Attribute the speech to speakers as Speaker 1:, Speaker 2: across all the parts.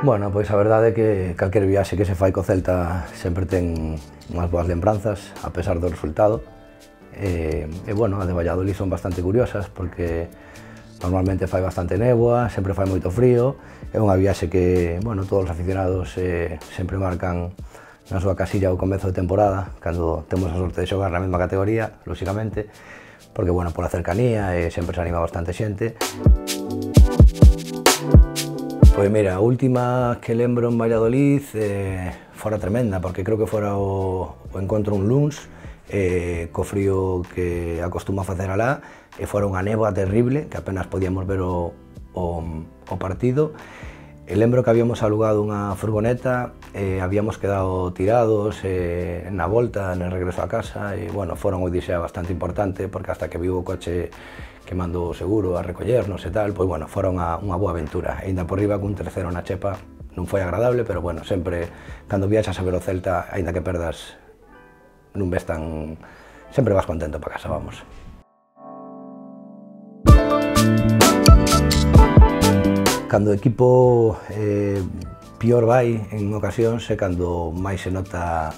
Speaker 1: Bueno, pois a verdade é que calquer viaxe que se fai co Celta sempre ten unhas boas lembranzas, a pesar do resultado. Bueno, a de Valladolid son bastante curiosas porque normalmente fai bastante néboa, sempre fai moito frío. É unha viaxe que, bueno, todos os aficionados sempre marcan na súa casilla ao comezo de temporada, cando temos a sorte de xogar na mesma categoría, lóxicamente, porque, bueno, pola cercanía sempre se anima bastante xente. Pois mira, a última que lembro en Valladolid fora tremenda, porque creo que fora o encontro un luns, co frío que acostuma a facer alá, e fora unha néboa terrible, que apenas podíamos ver o partido. E lembro que habíamos alugado unha furgoneta, habíamos quedado tirados na volta, en el regreso a casa, e, bueno, fora unha odisea bastante importante, porque hasta que viu o coche que mandou o seguro a recollernos e tal, pois, bueno, fora unha boa aventura. E ainda por riba cun terceiro na chepa non foi agradable, pero, bueno, sempre, cando viaxas a ver o Celta, ainda que perdas, non ves tan... sempre vas contento para casa, vamos. Cando o equipo pior vai en ocasións é cando máis se nota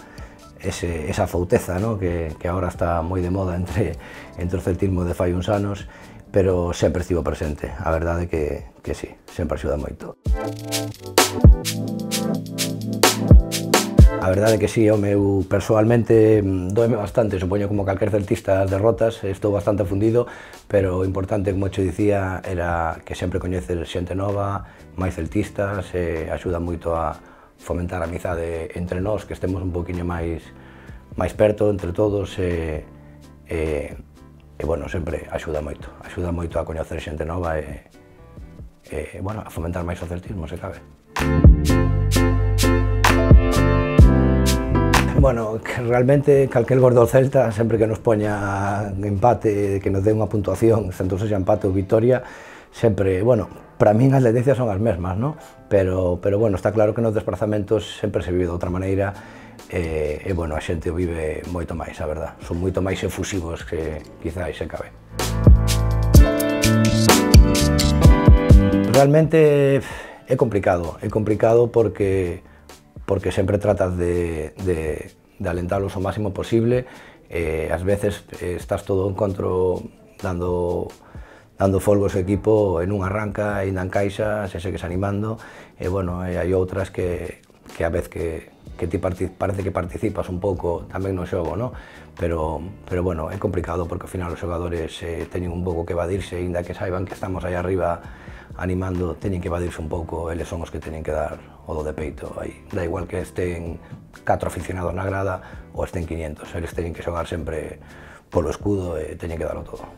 Speaker 1: esa fouteza, ¿no? que agora está moi de moda entre o celtismo de fai uns anos, pero sempre estivo presente. A verdade é que sí, sempre axuda moito. A verdade é que sí, eu persoalmente doeme bastante, supoño como calquer celtista as derrotas, estou bastante fundido, pero o importante, como che dicía, era que sempre coñeces xente nova, máis celtistas, axuda moito a fomentar a amizade entre nós, que estemos un poquinho máis perto entre todos, bueno, sempre axuda moito a coñecer xente nova e, bueno, a fomentar máis o celtismo, se cabe. Bueno, que realmente calquer gol do Celta, sempre que nos poña empate, que nos dé unha puntuación, tanto sexa empate ou victoria, sempre, bueno, para min as tendencias son as mesmas, ¿no? Pero, bueno, está claro que nos desplazamentos sempre se vive de outra maneira e, bueno, a xente o vive moito máis, a verdad. Son moito máis efusivos que quizás se cabe. Realmente é complicado porque sempre tratas de alentalos o máximo posible. Ás veces estás todo o encontro dando folgos ao equipo e non arranca, e non encaixa, se segues animando, e, bueno, hai outras que a vez que ti parece que participas un pouco tamén no xogo, ¿no? Pero, bueno, é complicado porque ao final os xogadores teñen un pouco que evadirse, ainda que saiban que estamos aí arriba animando, teñen que evadirse un pouco, eles son os que teñen que dar o do de peito aí. Da igual que estén 4 aficionados na grada ou estén 500, eles teñen que xogar sempre polo escudo e teñen que darlo todo.